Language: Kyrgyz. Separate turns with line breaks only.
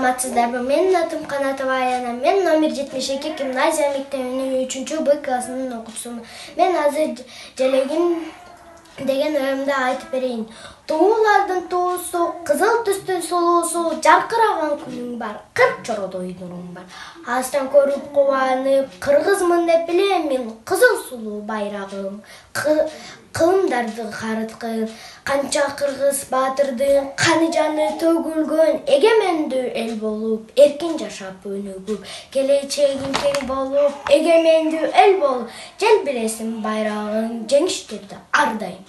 Саламатсыздарбы? Менин атым Канатова Аяна. Мен номер 72 гимназия мектебинин 3-Б классынын окуучусумун. Мен азыр желегим деген оюмду айтып берейин. Туулардын туусу, кызыл түстүн сулуусу, жаркыраган күнүң бар, кыр чородой нуруң бар. Астан көрүп кубанып, кыргызмын деп билем мен, кызыл сулуу байрагым. Кылымдарды карыткын, канча кыргыз баатырдын каны жаны төгүлгөн, эгемендүү эл болуп, эркин жашап өнүгүп, келечегиң кең болуп, эгемендүү эл болуп, желбиресин байрагың, жеңиштерди ар дайым